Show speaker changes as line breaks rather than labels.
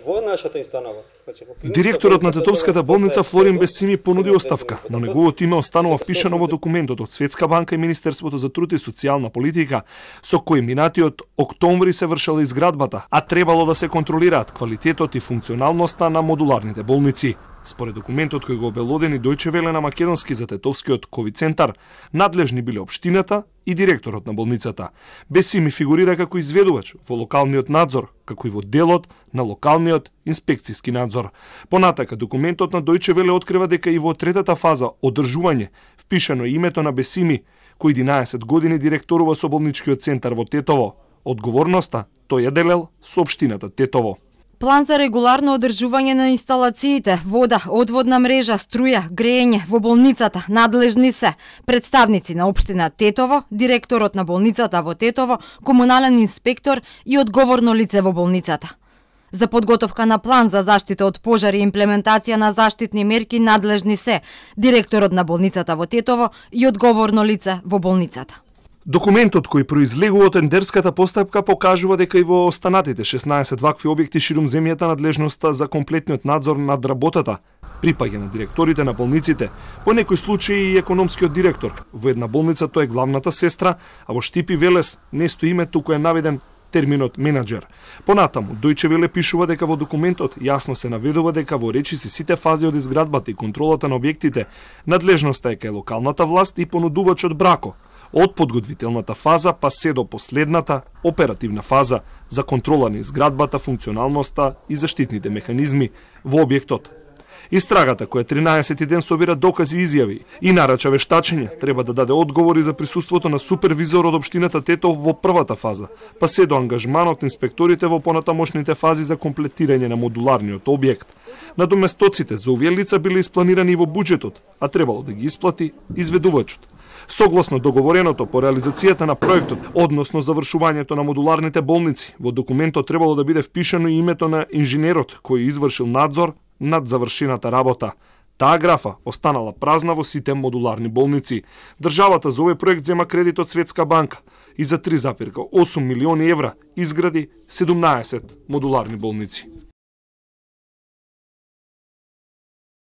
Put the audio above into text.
Во нашата установа.
Директорот на Тетовската болница Флорин Бесими понуди оставка, но неговото име останува впишано во документот од Светска банка и Министерството за труд и социјална политика, со кој минатиот октомври се вршела изградбата, а требало да се контролираат квалитетот и функционалноста на модуларните болници. Според документот кој го обелодени Дојче Веле на македонски за Тетовскиот ковид центар, надлежни биле општината и директорот на болницата. Бесими фигурира како изведувач во локалниот надзор, како и во делот на локалниот инспекцијски надзор. Понатака, документот на Дојче Веле открива дека и во третата фаза, одржување, впишано името на Бесими, кој 11 години директорува со болничкиот центар во Тетово. Одговорноста тој ја делел со општината Тетово.
План за регуларно одржување на инсталациите, вода, одводна мрежа, струја, грејење во болницата надлежни се представници на општина Тетово, директорот на болницата во Тетово, комунален инспектор и одговорно лице во болницата. За подготовка на план за заштита од пожари и имплементација на заштитни мерки надлежни се директорот на болницата во Тетово и одговорно лице во болницата.
Документот кој произлегува од тендерската постапка покажува дека и во останатите 16 вакви објекти ширум земјата надлежноста за комплетниот надзор над работата припаѓа на директорите на болниците, по некој случај и економскиот директор. Во една болница тој е главната сестра, а во Штипи Велес не стои име, туку е наведен терминот менаџер. Понатаму, Дојче Веле пишува дека во документот јасно се наведува дека во речиси сите фази од изградбата и контролата на објектите, надлежноста е кај локалната власт и понудувачот брако, од подготвителната фаза па се до последната оперативна фаза за контрола на изградбата, функционалноста и заштитните механизми во објектот. Истрагата, која 13 ден собира докази и изјави и нарача вештачење, треба да даде одговори за присуството на супервизор од општината Тетово во првата фаза, па се до ангажманот на инспекторите во понатамошните фази за комплетирање на модуларниот објект. Надоместоците за овие лица биле испланирани и во буџетот, а требало да ги исплати изведувачот. Согласно договореното по реализацијата на проектот, односно завршувањето на модуларните болници, во документот требало да биде впишано и името на инженерот кој извршил надзор над завршената работа. Таа графа останала празна во сите модуларни болници. Државата за овој проект зема кредит од Светска банка и за 3,8 милиони евра изгради 17 модуларни болници.